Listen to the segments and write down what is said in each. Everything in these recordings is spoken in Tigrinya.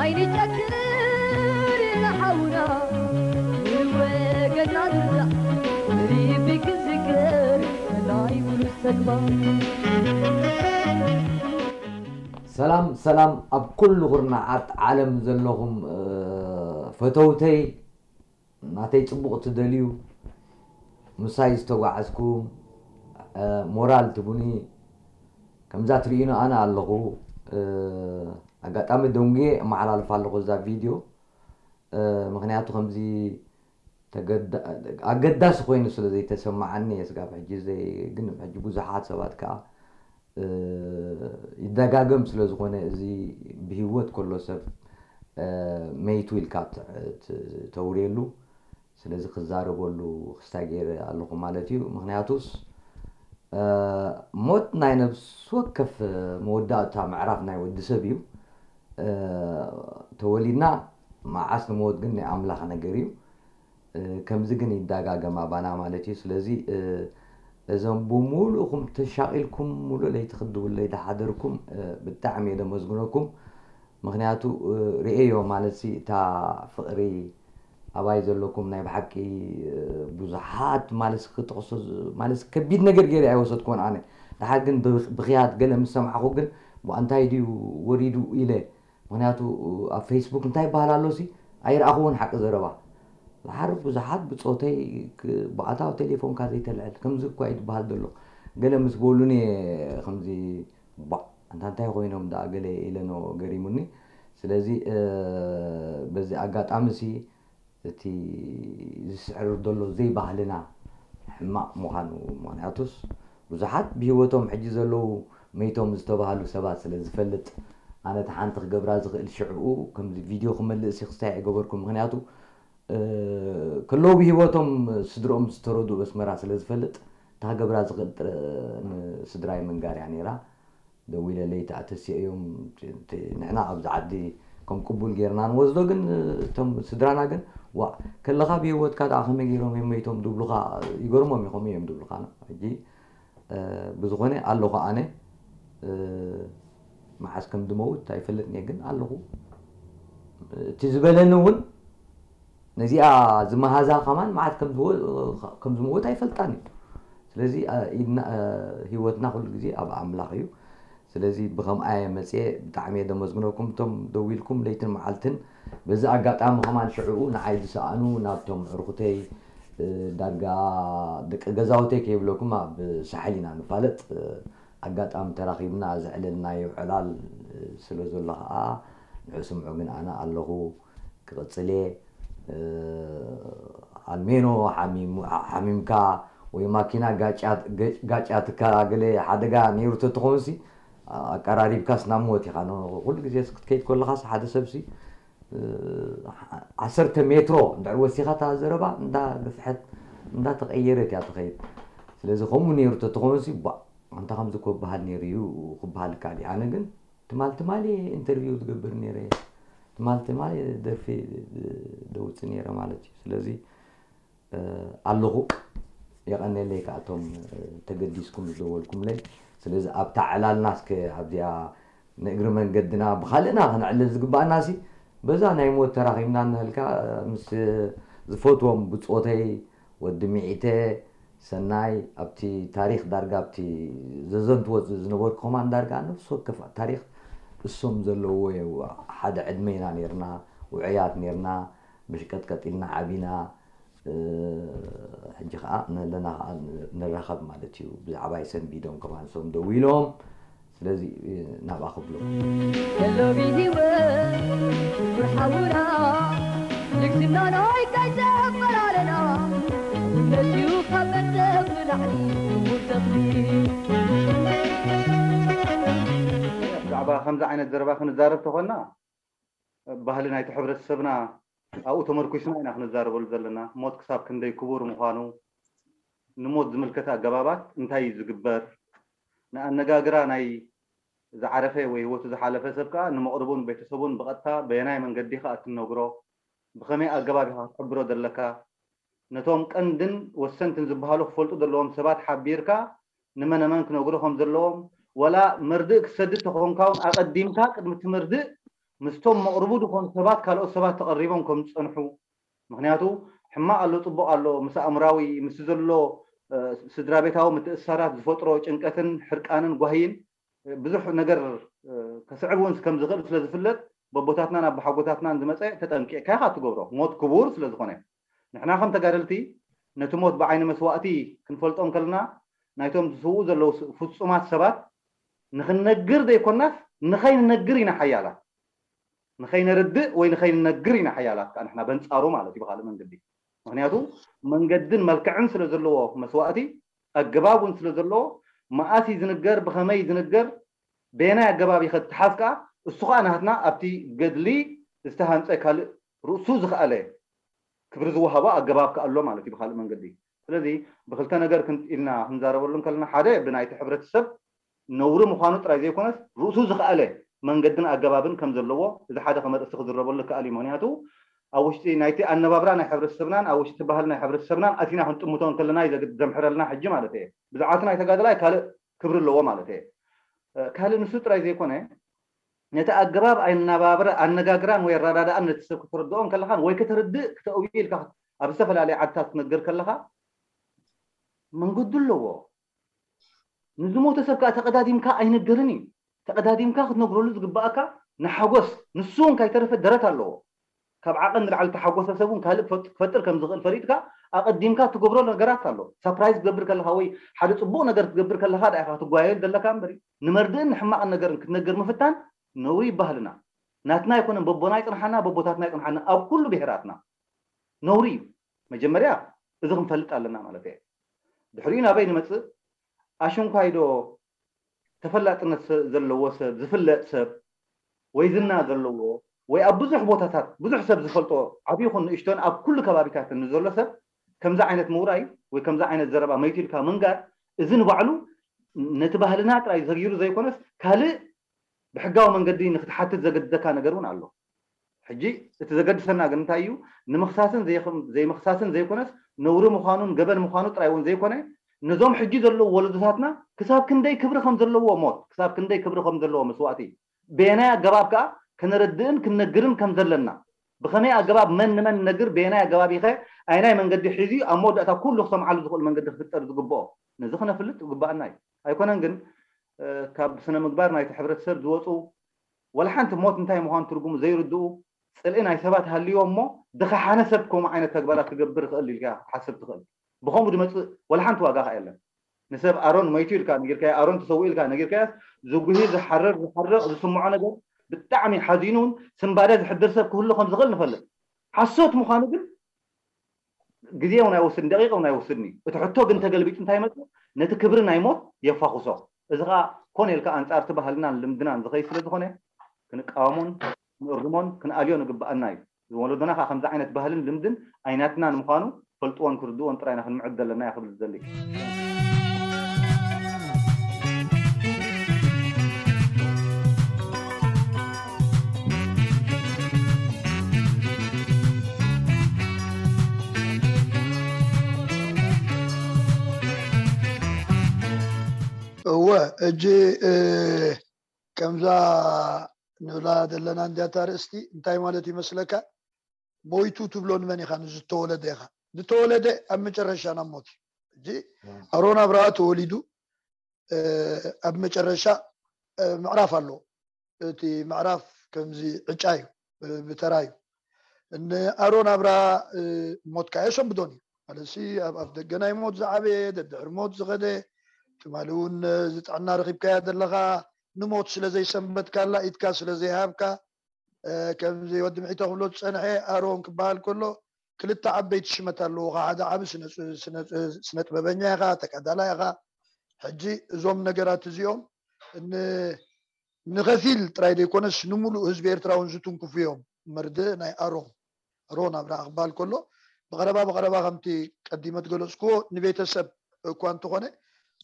ኣይንጨክን ንሓውና ንወገና ንርዳእ፣ ንልቢ ክንዝክር ናይ ብሉጽ ተግባር። ሰላም ሰላም ኣብ ኩሉ ኩርናዓት ዓለም ዘለኹም ፈተውተይ፣ ናተይ ጽቡቕ ትደልዩ፣ ምሳይ ዝተጓዓዝኩም፣ ሞራል ትቡኒ። ከምዛ ትርእዩኒ ኣነ ኣለኹ። ኣጋጣሚ ደንጉየ እመሓላልፍ ኣለኹ እዛ ቪድዮ። ምኽንያቱ ከምዚ ኣገዳሲ ኮይኑ ስለ ዘይተሰማዓኒ እየ ስጋብ ሕጂ ዘይ-፣ ግን ሕጂ ብዙሓት ሰባት ከዓ ይደጋገም ስለ ዝኾነ፣ እዚ ብህይወት ከሎ ሰብ መይቱ ኢልካ ተውርየሉ። ስለዚ ክዛረበሉ ክስታይ ገይረ ኣለኹ ማለት እዩ። ምኽንያቱስ ሞት ናይ ነብሲ ወከፍ መወዳእታ ምዕራፍ ናይ ወዲ ሰብ እዩ። ተወሊድና መዓስ ንሞት ግን ናይ ኣምላኽ ነገር እዩ። ከምዚ ግን ይዳጋገም ኣባና ማለት እዩ። ስለዚ እዞም ብሙሉእኹም ተሻቒልኩም ሙሉእ ለይቲ ክትድውለይ ዝሓደርኩም ብጣዕሚ እየ ደመስግነኩም። ምኽንያቱ ርእየዮ ማለት ሲ እታ ፍቕሪ ኣባይ ዘለኩም ናይ ብሓቂ ብዙሓት ማለት ክጠቕሶ ማለት ከቢድ ነገር ገይረ ኣይወሰድኩዎን ኣነ። ደሓር ግን ብኽያት ገለ ምስ ሰማዕኹ ግን እንታይ ድዩ ወሪዱ ኢለ። ምኽንያቱ ኣብ ፌስቡክ እንታይ ይበሃል ኣሎ ሲ ኣይረኣኹዎን ሓቂ ዘረባ። ደሓር ብዙሓት ብጾተይ ብኣታዊ ቴሌፎንካ ዘይተልዕል ከምዚ እኳ እዩ ዝበሃል ዘሎ። ገለ ምስ በሉኒ ከምዚ ባ እንታ እንታይ ኮይኖም ደኣ ገለ ኢለኖ ገሪሙኒ። ስለዚ በዚ ኣጋጣሚ ሲ እቲ ዝስዕር ዘሎ ዘይባህልና ሕማቕ ምዃኑ፣ ምኽንያቱስ ብዙሓት ብህይወቶም ሕጂ ዘለዉ መይቶም ዝተባህሉ ሰባት ስለ ዝፈልጥ፣ ኣነ እቲ ሓንቲ ክገብራ ዝኽእል ሽዕኡ ከምዚ ቪድዮ ክመልእ ሲ ክስታይ ኣይገበርኩን። ምኽንያቱ ከለዉ ብህይወቶም ስድርኦም ዝተረዱ በስመራ ስለ ዝፈልጥ፣ እታ ክገብራ ዝኽእል ጥረ ንስድራይ ምንጋር እያ ነይራ። ደዊለ ለይቲ ኣተሲኦም ንሕና ኣብዚ ዓዲ ከም ቅቡል ጌርና ንወስዶ ግን እቶም ስድራና ግን ዋ ከለኻ ብህይወትካ ደኣ ከመይ ገይሮም እዮም መይቶም ድብሉኻ ይገርሞም እዩ ከምኡ እዮም ድብሉኻ ሕጂ ብዝኾነ ኣለኹ ኣነ መዓስ ከም ድመውት ኣይፈልጥን እየ ግን ኣለኹ እቲ ዝበለኒ እውን ነዚኣ ዝመሃዛ ከማን መዓት ከም ዝመወት ኣይፈልጣን እዩ ስለዚ ህይወትና ኩሉ ግዜ ኣብ ኣምላኽ እዩ ስለዚ ብኸምኣ እየ መፅየ ብጣዕሚ እየ ደመስግነኩም እቶም ደው ኢልኩም ለይትን መዓልትን በዚ ኣጋጣሚ ከማን ሽዕኡ ንዓይ ዝሰኣኑ ናብቶም ዕርኩተይ ዳርጋ ደቂ ገዛውተይ ከይብለኩም ኣብ ሳሕል ኢና ንፋለጥ ኣጋጣሚ ተራኺብና ዘዕለልናዮ ዕላል ስለ ዘሎ ከዓ ንዑ ስምዑ ግን ኣነ ኣለኹ ክቕፅል እየ ኣልሜኖ ሓሚምካ ወይ ማኪና ጋጫትካ ገለ ሓደጋ ነይሩ ተትኸውን ሲ ኣቀራሪብካስ ናብ ሞት ኢኻ ኩሉ ግዜ ክትከይድ ከለኻስ ሓደ ሰብሲ ዓሰርተ ሜትሮ እንድሕር ወሲኻ እታ ዘረባ እንዳ ግፍሐት እንዳ ተቐየረት እያ ትኸይድ ስለዚ ከምኡ ነይሩ ተትኸውን ሲ ባ ኣንታ ከምዚ እኮ በሃል ነይሩ እዩ ክበሃል ይከኣል እዩ ኣነ ግን ትማል ትማል እየ ኢንተርቪው ዝገብር ነይረ ትማል ትማል ደርፊ ደውፅ ነይረ ማለት እዩ ስለዚ ኣለኹ የቐነለይ ከኣቶም ተገዲስኩም ዝደወልኩምለይ ስለዚ ኣብታ ዕላልና እስከ ኣብዚኣ ንእግሪ መንገድና ብካልእና ክንዕልል ዝግባኣና ሲ በዛ ናይ ሞት ተራኺብና እናልካ ምስ ዝፈትዎም ብፆተይ ወዲ ሚዒተ ሰናይ ኣብቲ ታሪክ ዳርጋ ኣብቲ ዘዘንትዎ ዝነበርኩ ከማን ዳርጋ ነፍሲ ወከፍ ታሪክ እሶም ዘለዎ ሓደ ዕድመ ኢና ነርና ውዑያት ነርና ብሽቀጥቀጥ ኢልና ዓቢና ሕጂ ከዓ ነለና ከዓ ንራኸብ ማለት እዩ ብዛዕባይ ሰንቢዶም ከማን እሶም ደው ኢሎም ስለዚ ናብኣ ክብሎ ከሎ ብህይወት ክቡር ሓውና ልግስና ናይ እንታይ ዘበላለና እምነትዩ ካብ መርተብ ንላዕሊ ክቡር ተኽሊ ብዛዕባ ከምዚ ዓይነት ዘረባ ክንዛረብ ተኾና ባህሊ ናይቲ ሕብረተሰብና ኣብኡ ተመርኩስና ኢና ክንዛረበሉ ዘለና ሞት ክሳብ ክንደይ ክቡር ምዃኑ ንሞት ዝምልከት ኣገባባት እንታይ እዩ ዝግበር ንኣነጋግራ ናይ ዝዓረፈ ወይ ህይወቱ ዝሓለፈ ሰብ ከዓ ንመቕርቡን ቤተሰቡን ብቐጥታ በየናይ መንገዲ ከዓ እትነግሮ ብኸመይ ኣገባብ ኢኻ ክትሕብሮ ዘለካ ነቶም ቀንድን ወሰንትን ዝበሃሉ ክፈልጡ ዘለዎም ሰባት ሓቢርካ ንመነመን ክነግሩ ከም ዘለዎም ወላ መርድእ ክትሰድድ ተኾንካ እውን ኣቐዲምካ ቅድሚ እቲ መርድእ ምስቶም መቕርቡ ዝኾኑ ሰባት ካልኦት ሰባት ተቐሪቦም ከም ዝፀንሑ፣ ምክንያቱ ሕማቕ ኣሎ ፅቡቕ ኣሎ፣ ምስ ኣእምራዊ ምስ ዘሎ ስድራ ቤታዊ ምትእሳራት ዝፈጥሮ ጭንቀትን ሕርቃንን ጓህይን ብዙሕ ነገር ከስዕብ እውን ከም ዝኽእል ስለ ዝፍለጥ፣ በቦታትናን ኣቦሓጎታትናን ዝመፀ ተጠንቂቕካ ኢኻ ትገብሮ፣ ሞት ክቡር ስለ ዝኾነ። ንሕና ከም ተጋደልቲ ነቲ ሞት ብዓይኒ መስዋእቲ ክንፈልጦ እንከለና፣ ናይቶም ዝስውኡ ዘለዉ ፍፁማት ሰባት ንኽንነግር ዘይኮናስ ንኸይንነግር ኢና ሓያላት። ንኸይነርድእ ወይ ንኸይንነግር ኢና ሓያላት ከዓ ንሕና በንፃሩ ማለት እዩ ብካልእ መንገዲ። ምክንያቱ መንገድን መልክዕን ስለ ዘለዎ መስዋእቲ፣ ኣገባብ እውን ስለ ዘለዎ፣ መኣስ እዩ ዝንገር፣ ብኸመይ እዩ ዝንገር፣ በየናይ ኣገባብ ይኸድ ተሓዝ ከዓ እሱ ከዓ ናትና ኣብቲ ገድሊ ዝተሃንፀ ካልእ ርእሱ ዝኸኣለ ክብሪ ዝወሃቦ ኣገባብ ከዓ ኣሎ ማለት እዩ ብካልእ መንገዲ። ስለዚ ብክልተ ነገር ክን- ኢልና ክንዛረበሉ እንከለና፣ ሓደ ብናይቲ ሕብረተሰብ ነውሪ ምዃኑ ጥራይ ዘይኮነስ ርእሱ ዝኸኣለ መንገድን ኣገባብን ከም ዘለዎ እዚ ሓደ ከም ኣርእስቲ ክዝረበሉ ይከኣል እዩ። ምክንያቱ ኣብ ውሽጢ ናይቲ ኣነባብራ ናይ ሕብረተሰብናን ኣብ ውሽጢ ባህል ናይ ሕብረተሰብናን ኣቲና ክንጥምቶ እንከለና እዩ ዘግ- ዘምሕረልና ሕጂ ማለት እየ። ብዛዕባ እቲ ናይ ተጋደላይ ካልእ ክብሪ ኣለዎ ማለት እየ። ካልእ ንሱ ጥራይ ዘይኮነ ነቲ ኣገባብ ኣነባብራ ኣነጋግራን ወይ ኣረዳድኣን ነቲ ሰብ ክተረድኦ እንከለኻን ወይ ከተርድእ ክተእውዩ ኢልካ ኣብ ዝተፈላለየ ዓድታት ክትነግር ከለኻ መንገዱ ኣለዎ። ንዝሞተ ሰብ ከዓ ተቐዳዲምካ ኣይነገርን እዩ። ተቐዳዲምካ ክትነግረሉ ዝግባኣካ ንሓጎስ፣ ንሱ እውን ካይተረፈ ደረት ኣለዎ። ካብ ዓቐን ንላዕሊ ተሓጎሰ ሰብ እውን ካልእ ክፈጥ- ክፈጥር ከም ዝኽእል ፈሊጥካ ኣቐዲምካ ትገብሮ ነገራት ኣሎ። ሳፕራይዝ ክትገብር ከለኻ ወይ ሓደ ፅቡቕ ነገር ክትገብር ከለኻ ዳ ኢኻ ክትጓየል ዘለካ እምበር፣ ንመርድእን ንሕማቕን ነገርን ክትነግር ምፍታን ነውሪ ይባህልና። ናትና ኣይኮነን፣ በቦና ይፅንሓና፣ በቦታትና ይፅንሓና፣ ኣብ ኩሉ ብሄራትና ነውሪ እዩ። መጀመርያ እዚ ክንፈልጥ ኣለና ማለት እየ። ድሕሪኡ ናበይ ንመፅእ? ኣሽንኳይዶ ተፈላጥነት ሰ- ዘለዎ ሰብ፣ ዝፍለጥ ሰብ ወይ ዝና ዘለዎ ወይ ኣብ ብዙሕ ቦታታት ብዙሕ ሰብ ዝፈልጦ ዓብዪ ይኹን ንእሽቶን ኣብ ኩሉ ከባቢታት ንዘሎ ሰብ ከምዚ ዓይነት ምውራይ ወይ ከምዚ ዓይነት ዘረባ መይቱ ኢልካ ምንጋር፣ እዚ ንባዕሉ ነቲ ባህልና ጥራይ ዘጊሩ ዘይኮነስ ካልእ ብሕጋዊ መንገዲ ንክትሓትት ዘገድደካ ነገር እውን ኣሎ። ሕጂ እቲ ዘገድሰና ግን እንታይ እዩ? ንምኽሳስን ዘይኽም- ዘይምኽሳስን ዘይኮነስ ነውሪ ምዃኑን ገበን ምዃኑ ጥራይ እውን ዘይኮነ፣ ነዞም ሕጂ ዘለዉ ወለዶታትና ክሳብ ክንደይ ክብሪ ከም ዘለዎ ሞት፣ ክሳብ ክንደይ ክብሪ ከም ዘለዎ መስዋእቲ፣ በየናይ ኣገባብ ከኣ ከነረድእን ክንነግርን ከም ዘለና፣ ብኸመይ ኣገባብ መን ንመን ነግር፣ በየናይ ኣገባብ ኢኸ ኣየናይ መንገዲ ሒዙ ኣብ መወዳእታ ኩሉ ክሰምዓሉ ዝኽእል መንገዲ ክፍጠር ዝግብኦ፣ ነዚ ክነፍልጥ ዝግባኣና እዩ። ኣይኮነን ግን ካብ ስነ ምግባር ናይቲ ሕብረተሰብ ዝወፁ፣ ወላ ሓንቲ ሞት እንታይ ምዃኑ ትርጉሙ ዘይርድኡ ፅልኢ ናይ ሰባት ሃልዮ እሞ፣ ዝኸሓነ ሰብ ከምኡ ዓይነት ተግባራት ክገብር ይኽእል ኢልካ ክትሓስብ ትኽእል። ብኸምኡ ዝመፅእ ወላ ሓንቲ ዋጋ ከ የለን። ንሰብ ኣሮን መይቱ ኢልካ ነጊርካዮ፣ ኣሮን ተሰዊኡ ኢልካ ነጊርካዮስ፣ ዝጉሂ፣ ዝሓርር፣ ዝሓርቕ፣ ዝስምዖ ነገር ብጣዕሚ ሓዚኑን ስንባደ ዝሕድር ሰብ ክህሉ ከም ዝኽእል ንፈልጥ። ሓሶት ምዃኑ ግን ግዜ እውን ኣይወስድን፣ ደቂቕ እውን ኣይወስድን እዩ። እቲ ሕቶ ግን ተገልቢጡ እንታይ ይመፅእ? ነቲ ክብሪ ናይ ሞት የፋኹሶ። እዚ ከዓ ኮነ ኢልካ ኣንፃር እቲ ባህልናን ልምድናን ዝኸይድ ስለ ዝኾነ ክንቃወሞን ክንእርሞን ክንኣልዮ ንግብኣና እዩ። ወለዶና ከዓ ከምዚ ዓይነት ባህልን ልምድን ኣይናትናን ምዃኑ ፈልጥዎን ክርድዎን ጥራይና ክንምዕድ ዘለና እያ ክብል ዝደሊ። እወ፣ እጂ ከምዛ ንብላ ዘለና እንዲያታ ርእስቲ እንታይ ማለት ይመስለካ? ሞይቱ ትብሎ ንመን ኢኻ? ንዝተወለደ ኢኻ። ዝተወለደ ኣብ መጨረሻ ናብ ሞት እዩ። እጂ ኣሮን ኣብርሃ ተወሊዱ ኣብ መጨረሻ ምዕራፍ ኣሎ። እቲ ምዕራፍ ከምዚ ዕጫ እዩ፣ ብተራ እዩ። ንኣሮን ኣብርሃ ሞት ከኣ የሰንብዶን እዩ ማለት ሲ ኣብ ኣፍ ደገ ናይ ሞት ዝዓበየ፣ ደድሕሪ ሞት ዝኸደ፣ ትማሊ እውን ዝጥዕና ረኺብካያ ዘለኻ ንሞት ስለ ዘይሰንበድካላ፣ ኢድካ ስለ ዘይሃብካ፣ ከምዚ ወዲ ምሒቶ ክብሎ ዝጸንሐ ኣሮን ክበሃል ከሎ ክልተ ዓበይቲ ሽመት ኣለዉኻ። ሓደ ዓቢ ስነ ጥበበኛ ኢኻ፣ ተጋዳላይ ኢኻ። ሕጂ እዞም ነገራት እዚኦም ንኸፊል ጥራይ ዘይኮነስ ንምሉእ ህዝቢ ኤርትራ እውን ዝትንክፉ እዮም። መርድእ ናይ ኣሮን ኣሮን ኣብርሃ ክበሃል ከሎ ብቐረባ ብቐረባ ከምቲ ቀዲመ ዝገለጽክዎ ንቤተሰብ እኳ እንተኾነ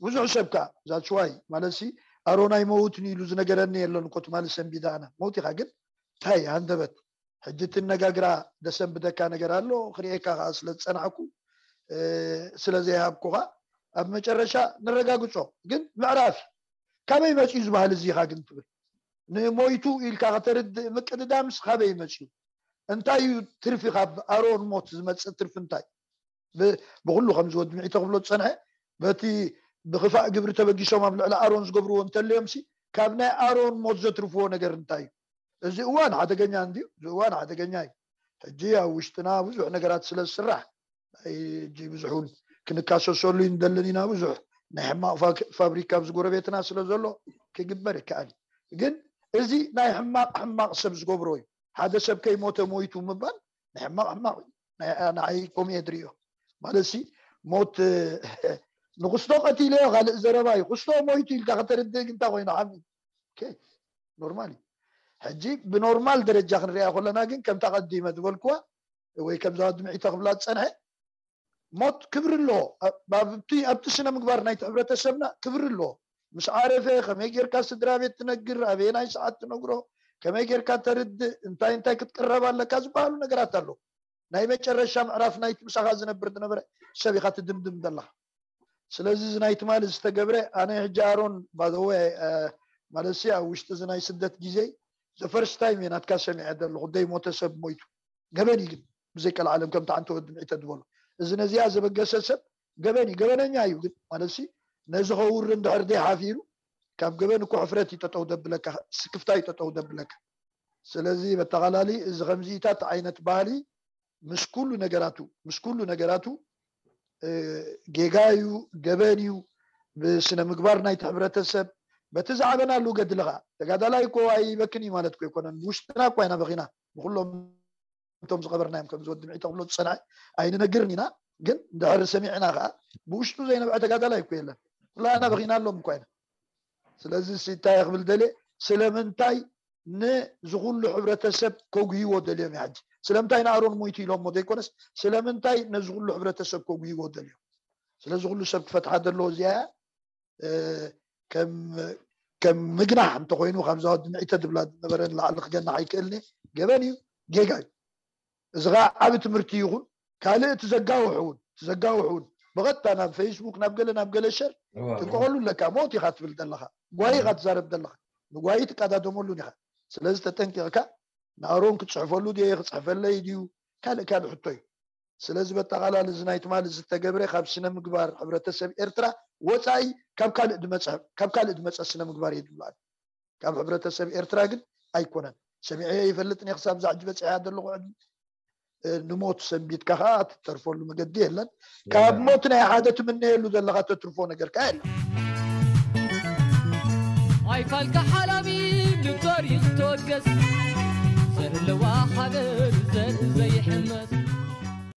ብዙሕ ሰብ ከኣ that's why ማለት ሲ ኣሮን ኣይመውትን ኢሉ ዝነገረኒ የለን እኮ ትማሊ ሰንቢዳ ኣነ መውት ኢኻ ግን እንታይ ሃንደበት ሕጂ ትነጋግራ ደሰንብደካ ነገር ኣሎ ክርእየካ ከዓ ስለ ዝፀናሕኩ ስለ ዘይሃብኩኻ ኣብ መጨረሻ ንረጋግፆ ግን ምዕራፍ እዩ ካበይ መፅኡ ዝበሃል እዚኻ ግን ትብል ንሞይቱ ኢልካ ከተርድእ ምቅድዳምስ ካበይ መፅዩ? እንታይ እዩ ትርፊ? ካብ ኣሮን ሞት ዝመፅእ ትርፊ እንታይ? ብኩሉ ከምዚ ወዲ ምዒ ተኽብሎ ዝፀንሐ፣ በቲ ብክፋእ ግብሪ ተበጊሶም ኣብ ልዕሊ ኣሮን ዝገብርዎ እንተልዮም ሲ፣ ካብ ናይ ኣሮን ሞት ዘትርፍዎ ነገር እንታይ እዩ? እዚ እዋን ሓደገኛ እንድዩ። እዚ እዋን ሓደገኛ እዩ። ሕጂ ኣብ ውሽጥና ብዙሕ ነገራት ስለ ዝስራሕ፣ ሕጂ ብዙሕ እውን ክንካሰሰሉ ይንደልን ኢና። ብዙሕ ናይ ሕማቕ ፋብሪካ ኣብዚ ጎረቤትና ስለ ዘሎ ክግበር ይከኣል እዩ። ግን እዚ ናይ ሕማቕ ሕማቕ ሰብ ዝገብሮ እዩ። ሓደ ሰብ ከይሞተ ሞይቱ ምባል ናይ ሕማቕ ሕማቕ እዩ። ንዓይ ከምኡ እየ ድሪዮ። ማለት ሲ፣ ሞት ንክስቶ ቀቲለዮ ካልእ ዘረባ እዩ። ክስቶ ሞይቱ ኢልካ ከተርድእ ግን እንታይ ኮይኑ ዓሚ ኖርማል እዩ። ሕጂ ብኖርማል ደረጃ ክንሪኣ ከለና ግን ከምታ ቀዲመ ዝበልክዋ ወይ ከምዛ ወዲ ምዒ ተኽብላ ዝፀንሐ፣ ሞት ክብሪ ኣለዎ። ኣብቲ ስነ ምግባር ናይቲ ሕብረተሰብና ክብሪ ኣለዎ። ምስ ዓረፈ ከመይ ጌርካ ስድራ ቤት ትነግር፣ ኣበየናይ ሰዓት ትነግሮ፣ ከመይ ጌርካ ተርድእ፣ እንታይ እንታይ ክትቅረብ ኣለካ ዝበሃሉ ነገራት ኣለዉ። ናይ መጨረሻ ምዕራፍ ናይቲ ምሳኻ ዝነብር ዝነበረ ሰብ ኢኻ ትድምድም ዘለኻ። ስለዚ እዚ ናይ ትማሊ ዝተገብረ፣ ኣነ ሕጂ ኣሮን ባደወ ማለት ሲ ኣብ ውሽጢ እዚ ናይ ስደት ግዜ the first time እየ ናትካ ሰሚዐ ዘለኹ ዘይሞተ ሰብ ሞይቱ። ገበን እዩ ግን ብዘይ ቀልዓለም ከምቲ ዓንተ ወዲ ምዒ ተድበሎ፣ እዚ ነዚኣ ዘበገሰ ሰብ ገበን እዩ፣ ገበነኛ እዩ። ግን ማለት ሲ ነዚ ከውሪ እንድሕር ደይ ሓፊሩ ካብ ገበን እኮ ሕፍረት እዩ ጠጠው ደብለካ፣ ስክፍታ እዩ ጠጠው ደብለካ። ስለዚ በተቓላሊ እዚ ከምዚታት ዓይነት ባህሊ ምስ ኩሉ ነገራቱ ምስ ኩሉ ነገራቱ ጌጋ እዩ፣ ገበን እዩ። ብስነ ምግባር ናይቲ ሕብረተሰብ በቲ ዝዓበናሉ ገድልኻ ተጋዳላይ እኮ ኣይበክን እዩ ማለት እኮ ኣይኮነን። ብውሽጥና እኳ ኢና በኺና ብኩሎም እቶም ዝቐበርናዮም ከም ዝወዲ ምዒ ተኽብሎ ዝፀንዐ ኣይንነግርን ኢና። ግን እንድሕር ሰሚዕና ከዓ ብውሽጡ ዘይነብዐ ተጋዳላይ እኮ የለን። ኩላና በኺናሎም እኳ ኢና። ስለዚ እንታይ ክብል ደልየ፣ ስለምንታይ ንዚ ኩሉ ሕብረተሰብ ከጉህይዎ ደልዮም እዩ? ሕጂ ስለምንታይ ንኣሮን ሞይቱ ኢሎሞ ዘይኮነስ ስለምንታይ ነዚ ኩሉ ሕብረተሰብ ከጉህይዎ ደልዮም? ስለዚ ኩሉ ሰብ ክፈትሓ ደለዎ እዚኣ እያ። ከም ምግናሕ እንተኮይኑ ካብዛ ወዲ ምዒተ ድብላ ዝነበረ ንላዕሊ ክገናሕ ኣይክእልኒ። ገበን እዩ፣ ጌጋ እዩ። እዚ ከዓ ዓብ ትምህርቲ ይኹን ካልእ ትዘጋውሕ እውን ትዘጋውሕ እውን ብቐጥታ ናብ ፌስቡክ ናብ ገለ ናብ ገለ ሸር ትንቀቐሉ ኣለካ። ሞት ኢኻ ትብል ዘለኻ፣ ጓይ ኢኻ ትዛረብ ዘለኻ፣ ንጓይ ትቀዳደመሉን ኢኻ። ስለዚ ተጠንቂቕካ ንኣሮን ክፅሕፈሉ ድየ ክፅሕፈለይ ድዩ ካልእ ካልእ ሕቶ እዩ። ስለዚ በጠቓላሊ እዚ ናይ ትማሊ ዝተገብረ ካብ ስነ ምግባር ሕብረተሰብ ኤርትራ ወፃኢ ካብ ካልእ ድመፀ ስነ ምግባር እየ ድብላል። ካብ ሕብረተሰብ ኤርትራ ግን ኣይኮነን። ሰሚዐ ይፈልጥ ነ ክሳብ ዛዕጂ በፂሐ ዘለኹ ዕድሚ ንሞት ሰንቢትካ ከዓ ትተርፈሉ መገዲ የለን። ካብ ሞት ናይ ሓደ ትምነየሉ ዘለካ ተትርፎ ነገር ከዓ የለን። ኣይፋልካ ሓላሚ ንግበር ይተወገስ ዘለዋ ሃገር ዘርኢ